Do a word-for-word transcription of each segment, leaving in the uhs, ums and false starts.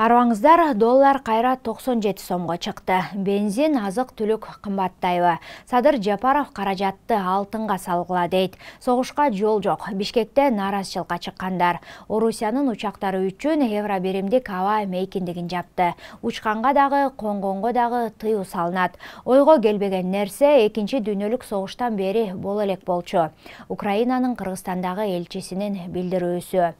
Арбаңыздар, доллар кайра токсон жети сомго чыкты. Бензин, азык-түлүк кымбаттайбы. Садыр Жапаров каражатты алтынга салгыла дейт. Согушка жол жок. Бишкекте нааразычылыкка чыккандар. Орусиянын учактары үчүн евро биримдик аба мейкиндигин жапты. Учканга дагы, конгонго дагы тыюу салынат. Ойго келбеген нерсе экинчи дүйнөлүк согуштан бери боло элек болчу. Украинанын Кыргызстандагы элчисинин билдирүүсү.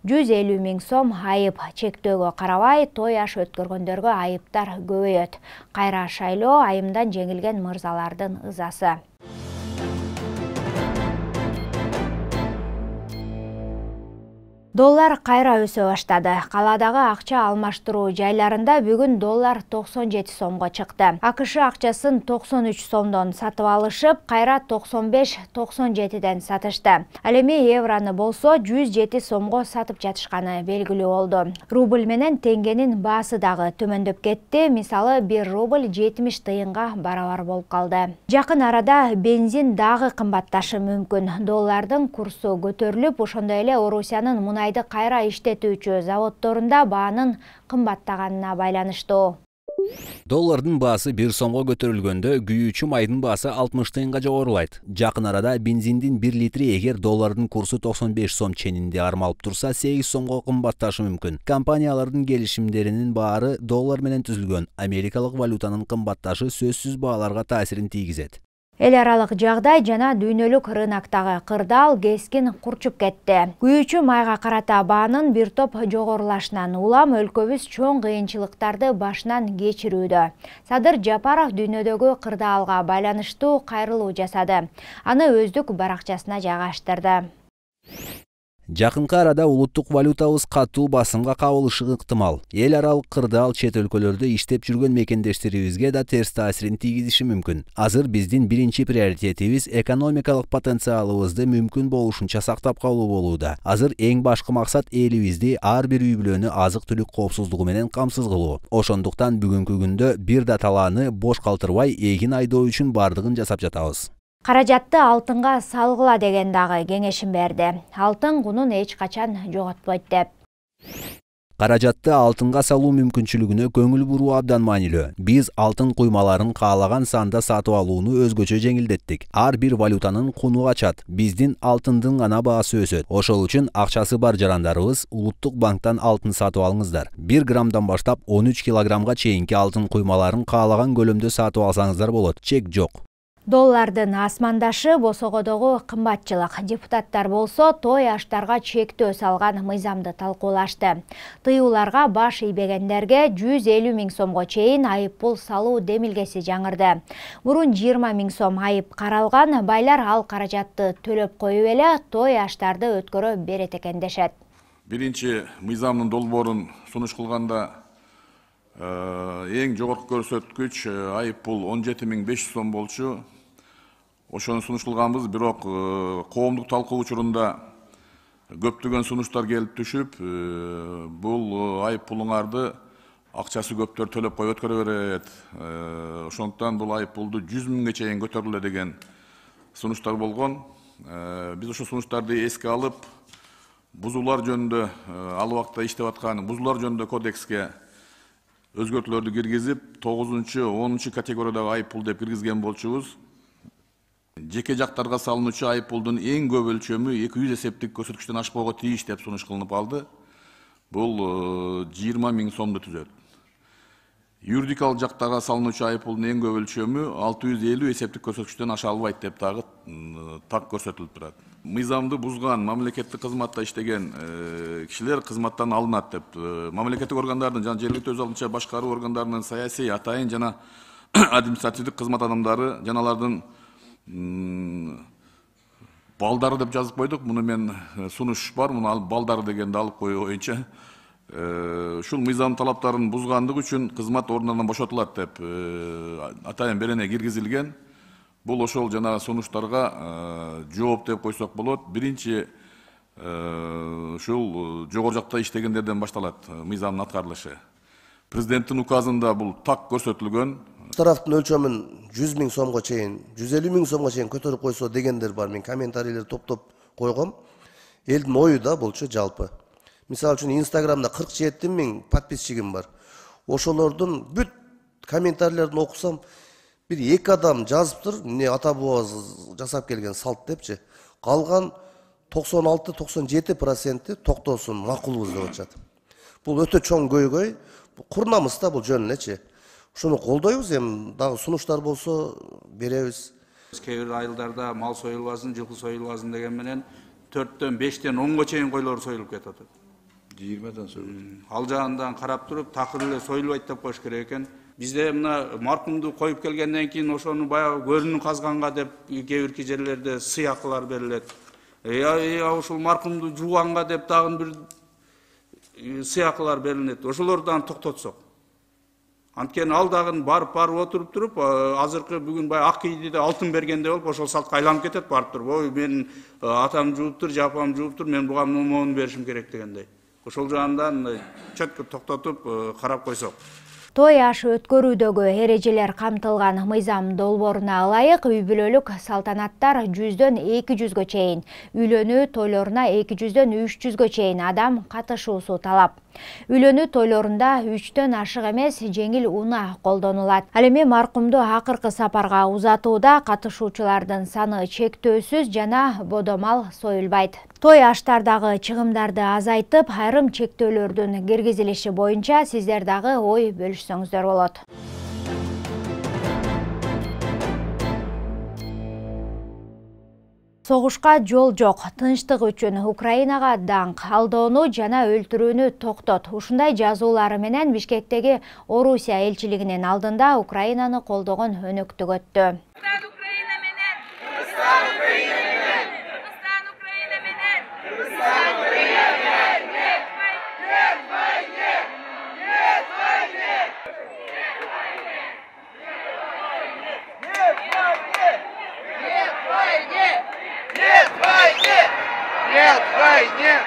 жүз элүү миң сом айып чектөөгө карабай той аш өткөргөндөргө айыптар көбөйөт. Кайра шайлоо айымдан жеңилген мырзалардын ызасы. Доллар кайра өсө баштады. Каладагы акча алмаштыруу жайларында бүгүн доллар токсон жети сомго чыкты. АКШ акчасын токсон үч сомдон сатып алышып, кайра токсон беш токсон жетиден сатышты. Ал эми евроны болсо жүз жети сомго сатып жатышканы белгилүү болду. Рубль менен теңгенин баасы дагы төмөндөп кетти. Мисалы, бир рубль жетимиш тыйынга барабар болуп калды. Жакын арада бензин дагы кымбатташы мүмкүн. Доллардын курсу көтөрүлүп, ошондой эле Орусиянын мунай кайра иштетүүчү заводдорунда баанын кымбаттаганына байланыштуу. Доллардын баасы бир сомго көтөрүлгөндө күйүүчү майдын баасы алтымыш тыйынга жогорулайт. Жакын арада бензиндин бир литри эгер доллардын курсу токсон беш сом ченинде армалып турса, сегиз сомго кымбатташы мүмкүн. Компаниялардын келишимдеринин баары доллар менен түзүлгөн. Америкалык валютанын кымбатташы сөзсүз бааларга таасирин тийгизет. Эл аралык жагдай жана дүйнөлүк рыноктогу кырдаал кескин курчуп кетти. Күйүүчү майга карата баанын бир топ жогорулашынан улам өлкөбүз чоң кыйынчылыктарды башынан кечирүүдө. Садыр Жапаров дүйнөдөгү кырдаалга байланыштуу кайрылуу жасады. Аны өздүк баракчасына жайгаштырды. Жакынкы арада улуттук валютабыз катуу басымга кабылышы ыктымал. Эл аралык кырдаал чет өлкөлөрдө иштеп жүргөн мекендештерибизге да терс таасирин тийгизиши мүмкүн. Азыр биздин биринчи приоритетибиз экономикалык потенциалыбызды мүмкүн болушунча сактап калуу болууда. Азыр эң башкы максат элибизди ар бир үй бүлөнү азык-түлүк коопсуздугу менен камсыз кылуу. Ошондуктан бүгүнкү күндө бир да талааны бош калтырбай эгин айдоо үчүн бардыгын жасап жатабыз. Каражатты алтынга салгыла деген дагы кеңешин берди. Алтын кунун эч качан жоготпойт деп. Каражатты алтынга салуу мүмкүнчүлүгүнө көңүл буруу абдан маанилүү. Биз алтын куймаларын каалаган санда сатып алууну өзгөчө жеңилдеттик. Ар бир валютанын куну качат. Биздин алтындын гана баасы өсөт. Ошол үчүн акчасы бар жарандарыбыз улуттук банктан алтын сатып алыңыздар. бир граммдан баштап он үч килограммга чейинки алтын куймаларын каалаган көлөмдө сатып алсаңыздар болот. Чек жок. Доллардын асмандашы босогодогу кымбатчылык. Депутаттар болсо той аштарга чектөө салган мыйзамды талкуулашты. Тыюуларга баш ийбегендерге жүз элүү миң сомго чейин айып пул салуу демилгеси жаңырды. Мурун жыйырма миң сом айып каралган, байлар ал каражатты төлөп коюп эле той аштарды өткөрө берет экен дешет. Биринчи мыйзамдын долбоорун сунуш кылганда эң жогорку көрсөткүч айып пул он жети миң беш жүз сом болчу. Ошону сунуш кылганбыз, бирок коомдук талкуу учурунда көптөгөн сунуштар келип түшүп, бул айып пулуңарды акчасы көптөр төлөп коюп өткөрө берет. Ошондуктан бул айып пулду жүз миңге чейин көтөрүлө деген сунуштар болгон. Биз ошол сунуштарды эске алып, бузуулар жөнүндө ал убакта иштеп аткан бузуулар жөнүндө кодекске өзгөртүүлөрдү киргизип, тогузунчу, онунчу категориядагы айып пул деп киргизген болчубуз. Жеке жактарга салынуучу айып пулдун эң көп өлчөмү эки жүз эсептик көрсөткүчтөн ашпоого тийиш деп сунуш кылынып алды. Бул жыйырма миң сомду түзөт. Юридикалык жактарга салынуучу айып пулдун эң көп өлчөмү алты жүз элүү эсептик көрсөткүчтөн аша албайт деп дагы так көрсөтүлүп турат. Мыйзамды бузган, мамлекеттик кызматта иштеген кишилер кызматтан алынат деп. Мамлекеттик органдардын жана жергиликтүү өз алдынча башкаруу органдарынын саясий, атайын жана административдик кызмат адамдары жана алардын балдары деп жазып койдук. Муну мен сунуш бар, муну алып балдары дегенди алып коюу боюнча ушул мыйзам талаптарын бузгандык үчүн кызмат ордунан бошотулат деп атайын берене киргизилген. Бул ошол жана сунуштарга жооп деп койсок болот. Биринчи ушул жогору жакта иштегендерден башталат мыйзамдын аткарылышы. Президенттин указында бул так көрсөтүлгөн. Тараптын өлчөмүн жүз миң сомго чейин, жүз элүү миң сомго чейин көтөрүп койсо дегендер бар. Мен комментарийлер топтоп койгом. Элдин ою да болчу жалпы. Мисалы үчүн Инстаграмда кырк жети миң подписчигим бар. Ошолордун бүт комментарийлерин окусам, бир эки адам жазыптыр, эмне ата бабабыз жасап келген салт депчи. Калган токсон алты токсон жети проценти токтосун, макулбуз деп атышат. Бул өтө чоң көйгөй. Курнамыз да бул жөн элечи. Ошону колдойбуз, эми дагы сунуштар болсо беребиз. Кээ бир айылдарда мал союлбасын, жылкы союлбасын деген менен төрттөн бештен онго чейин койлор союлуп кетип атат. жыйырмадан союлат. Ал жагынан карап туруп, такыр эле союлбайт деп коюш керек экен. Бизде мына маркумду коюп келгенден кийин ошону баягы көрүнү казганга деп кээ бир жерлерде сыйакылар берилет. Я ошол маркумду жууганга деп дагы бир сыйакылар берилет. Ошолорду токтотсок. Анткени ал дагы барып барып отуруп туруп, азыркы бүгүн баягы ак кийдиде алтын бергенде болуп, ошол салтка айланып кетет барып туруп. Ой, мен атам жууптур, жапам жууптур, мен буга момон беришим керек дегендей. Ошол жагынан чөткө токтотуп карап койсок. Той аш өткөрүүдөгү эрежелер камтылган мыйзам долбооруна ылайык үй бүлөлүк салтанаттар жүздөн эки жүзгө чейин, үйлөнүү тойлоруна эки жүздөн үч жүзгө чейин адам катышуусу талап. Үйлөнүү тойлорунда үчтөн ашык эмес жеңил унаа колдонулат. Ал эми маркумду акыркы сапарга узатууда катышуучулардын саны чектөөсүз жана бодомал союлбайт. Той аштардагы чыгымдарды азайтып, айрым чектөөлөрдүн киргизилиши боюнча сиздер дагы ой бөлүшсөңүздөр болот. Согушка жол жок, тынчтык үчүн Украинага даңк, алдоону жана өлтүрүүнү токтот. Ушундай жазуулары менен Бишкектеги Орусия элчилигинин алдында Украинаны колдогон өнөктүк өттү. Нет войне!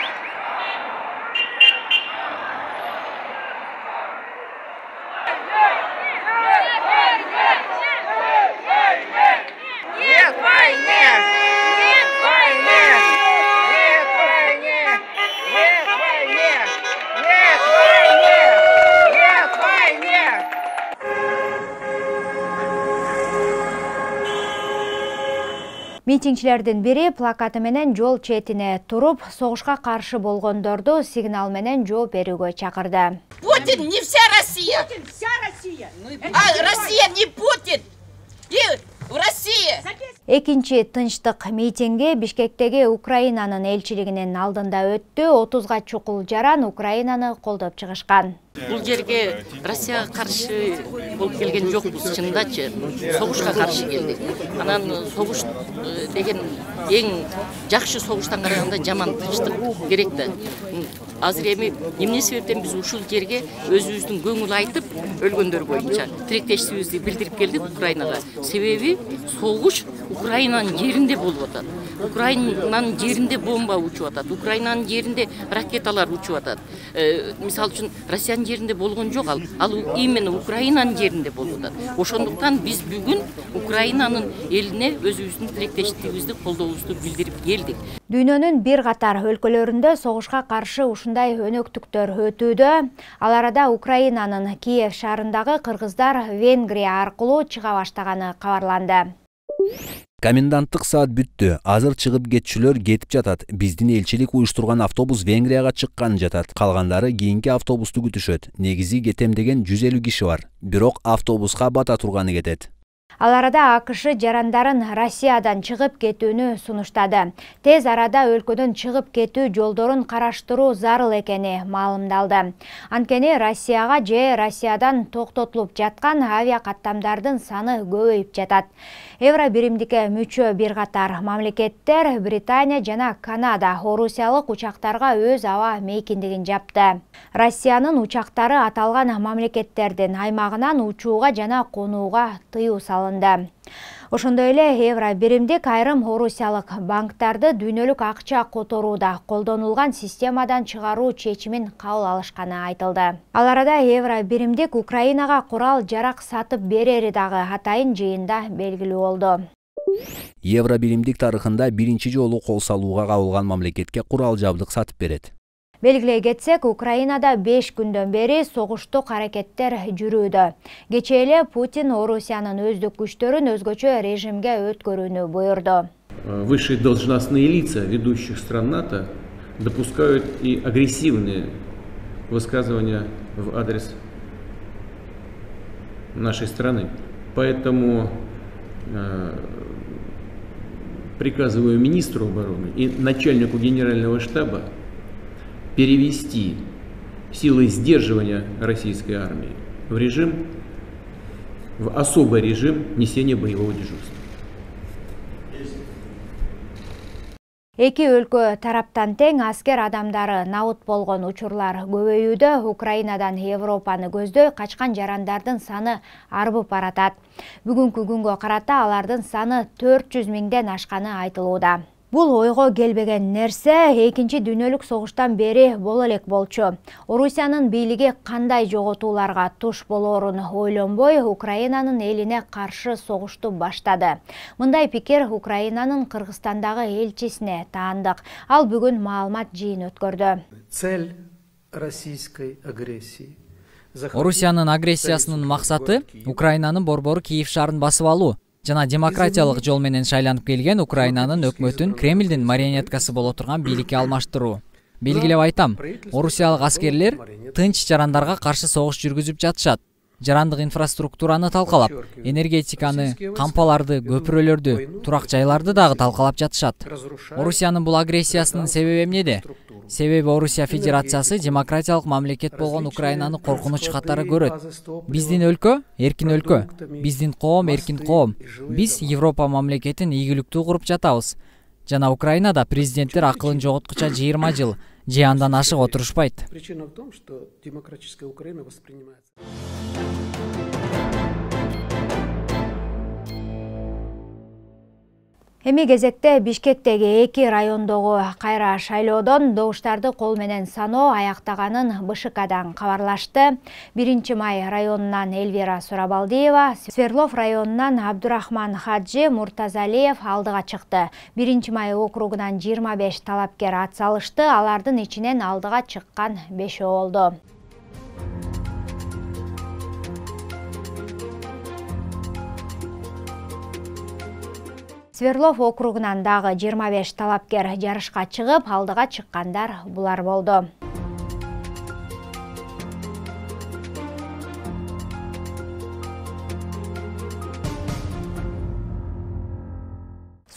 Нет войне! Нет войне! Нет войне! Нет войне! Нет войне! Нет войне! Митингчилердин бири плакаты менен жол четине туруп, согушка каршы болгондорду сигнал менен жооп берүүгө чакырды. Путин не вся Россия. Путин вся Россия. А Россия не Путин. И в России. Экинчи тынчтык митинги Бишкектеги Украинанын элчилигинин алдында өттү. отузга чукул жаран Украинаны колдоп чыгышкан. Бул жерге Россияга каршы болуп келген жокпуз, чындачы. Согушка каршы келдик. Анан согуш деген эң жакшы согуштан караганда жаман тынчтык керек да. Азыр эми эмне себептен биз ушул жерге өзүбүздүн көңүл айтып, өлгөндөр боюнча тилектешибизди билдирип келдик Украинага. Себеби согуш Украинанын жеринде болуп атат. Украинанын жеринде бомба учуп атат. Украинанын жеринде ракеталар учуп атат. Мисалы үчүн Россиянын жеринде болгон жок ал. Ал именно Украинанын жеринде болуп атат. Ошондуктан биз бүгүн Украинанын элине өзүбүздүн тилектештигибизди, колдообузду билдирип келдик. Дүйнөнүн бир катар өлкөлөрүндө согушка каршы ушундай өнөктүктөр өтүүдө. Ал арада Украинанын Киев шаарындагы кыргыздар Венгрия аркылуу чыга баштаганы кабарланды. Коменданттык саат бүттү. Азыр чыгып кетчүлөр кетип жатат. Биздин элчилик уюштурган автобус Венгрияга чыккан жатат. Калгандары кийинки автобусту күтүшөт. Негизи кетем деген жүз элүү киши бар. Бирок автобуска бата турганы кетет. Ал арада АКШ жарандарын Россиядан чыгып кетүүнү сунуштады. Тез арада өлкөдөн чыгып кетүү жолдорун караштыруу зарыл экени маалымдалды. Анткени Россияга же Россиядан токтотулуп жаткан авиа каттамдардын саны көбөйүп жатат. Евро биримдикке мүчө бир катар мамлекеттер Британия жана Канада орусиялык учактарга өз аба мейкиндигин жапты. Россиянын учактары аталган мамлекеттердин аймагынан учууга жана конууга тыюу салынды. Ошондой эле евро биримдик айрым орусиялык банктарды дүйнөлүк акча которууда колдонулган системадан чыгаруу чечимин кабыл алышканы айтылды. Ал арада евро биримдик Украинага курал жарак сатып берери дагы атайын жыйында белгилүү болду. Евро биримдик тарыхында биринчи жолу кол салууга кабылган мамлекетке курал жабдык сатып берет. Белгилей кетсек, Украинада беш күндөн бери согуштук аракеттер жүрүүдө. Кечээ эле Путин Орусиянын өздүк күчтөрүн өзгөчө режимге өткөрүүнү буйрду. Высшие должностные лица ведущих стран НАТО допускают и агрессивные высказывания в адрес нашей страны. Поэтому э, приказываю министру обороны и начальнику генерального штаба перевести силы сдерживания российской армии в режим, в особый режим несения боевого дежурства. Эки өлкө тараптан тең аскер адамдары набыт болгон учурлар көбөйүүдө. Украинадан Европаны көздөй качкан жарандардын саны арбып баратат. Бүгүнкү күнгө карата алардын саны төрт жүз миңден ашканы айтылууда. Бул ойго келбеген нерсе экинчи дүйнөлүк согуштан бери боло элек болчу. Орусиянын бийлиги кандай жоготууларга туш болоорун ойлонбой, Украинанын элине каршы согушту баштады. Мындай пикир Украинанын Кыргызстандагы элчисине таандык. Ал бүгүн маалымат жыйын өткөрдү. Цель российской агрессии. Орусиянын агрессиясынын максаты Украинанын борбору Киев шаарын басып алуу жана демократиялык жол менен шайланып келген Украинанын өкмөтүн Кремлдин марионеткасы боло турган бийликке алмаштыруу. Белгилеп айтам, орусиялык аскерлер тынч жарандарга каршы согуш жүргүзүп жатышат. Жарандык инфраструктураны талкалап, энергетиканы, кампаларды, көпүрөлөрдү, турак жайларды дагы талкалап жатышат. Орусиянын бул агрессиясынын себеби эмнеде? Себеби Орусия Федерациясы демократиялык мамлекет болгон Украинаны коркунуч катары көрөт. Биздин өлкө эркин өлкө, биздин коом эркин коом. Биз Европа мамлекетин ийгиликтүү куруп жатабыз. Жана Украинада президенттер акылын жоготкуча жыйырма жыл же андан ашык отурушпайт. Причина в том, что демократическая Украина воспринимается. Эми кезекте Бишкектеги эки райондогу кайра шайлоодон добуштарды кол менен саноо аяктаганын БШКдан кабарлашты. Биринчи май районунан Эльвира Сурабалдиева, Сверлов районунан Абдурахман Хаджи Муртазалиев алдыга чыкты. Биринчи май округунан жыйырма беш талапкер ат салышты, алардын ичинен алдыга чыккан бешөө болду. Сверлов округунан дагы жыйырма беш талапкер жарышка чыгып, алдыга чыккандар булар болду.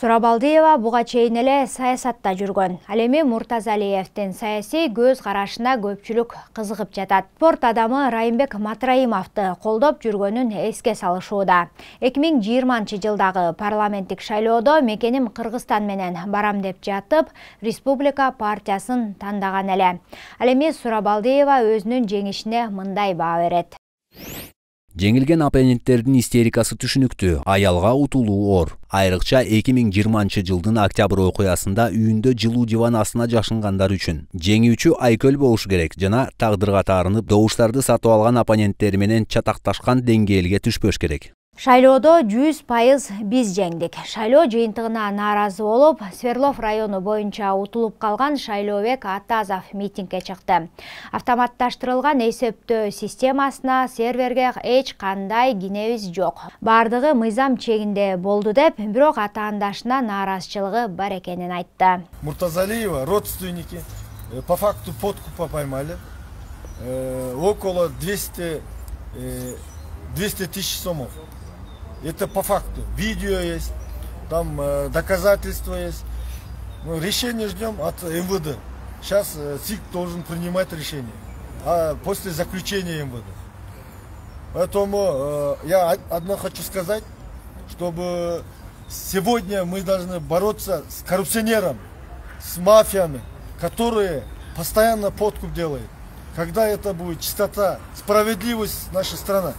Сурабалдиева буга чейин эле саясатта жүргөн. Ал эми Муртазалиевдин саясий көз карашына көпчүлүк кызыгып жатат. Спорт адамы Райымбек Матраимовду колдоп жүргөнүн эске салышууда. эки миң жыйырманчы жылдагы парламенттик шайлоодо мекеним Кыргызстан менен барам деп жатып, Республика партиясын тандаган эле. Ал эми Сурабалдиева өзүнүн жеңишине мындай баа берет. Жеңилген оппоненттердин истерикасы түшүнүктүү, аялга утулуу оор. Айрыкча эки миң жыйырманчы жылдын октябрь окуясында үйүндө жылуу диван астына жашынгандар үчүн. Жеңүүчү айкөл болушу керек жана тагдырга таарынып добуштарды сатып алган оппоненттери менен чатакташкан деңгээлге түшпөш керек. Шайлоодо жүз пайыз биз жеңдик. Шайлоо жыйынтыгына нааразы болуп, Сверлов району боюнча утулуп калган Шайлообек Атазов митингге чыкты. Автоматташтырылган эсептөө системасына, серверге эч кандай кинебиз жок. Бардыгы мыйзам чегинде болду деп, бирок атаандашына нааразычылыгы бар экенин айтты. Муртазалиева родственники по факту подкупа поймали. Около двести тысяч сомов. Это по факту. Видео есть, там э, доказательства есть. Ну, решение ждем от эм вэ дэ. Сейчас э, ЦИК должен принимать решение. А после заключения эм вэ дэ. Поэтому э, я одно хочу сказать, чтобы сегодня мы должны бороться с коррупционером, с мафиями, которые постоянно подкуп делают. Когда это будет чистота, справедливость нашей страны.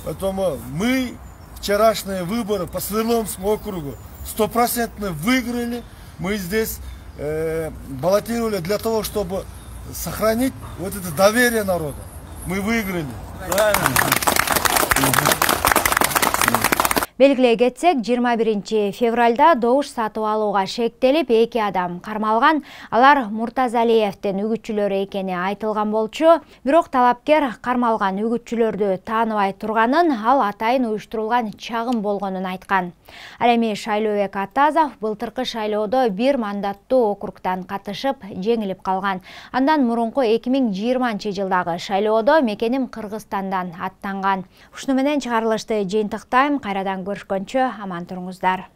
Поэтому мы вчерашние выборы по Сверловскому округу стопроцентно выиграли. Мы здесь э, баллотировали для того, чтобы сохранить вот это доверие народа. Мы выиграли. Белгилей кетсек, жыйырма биринчи февралда добуш сатып алууга шектелип эки адам кармалган. Алар Муртазалиевдин үгүтчүлөрү экени айтылган болчу. Бирок талапкер кармалган үгүтчүлөрдү тааныбай турганын, ал атайын уюштурулган чагым болгонун айткан. Ал эми Шайлообек Атазов былтыркы шайлоодо бир мандаттуу округдан катышып жеңилип калган. Андан мурунку эки миң жыйырманчы жылдагы шайлоодо мекеним Кыргызстандан аттанган. Ушуну менен чыгарылышты жыйынтыктайм. Кайрадан көрүшкөнчө аман туруңуздар.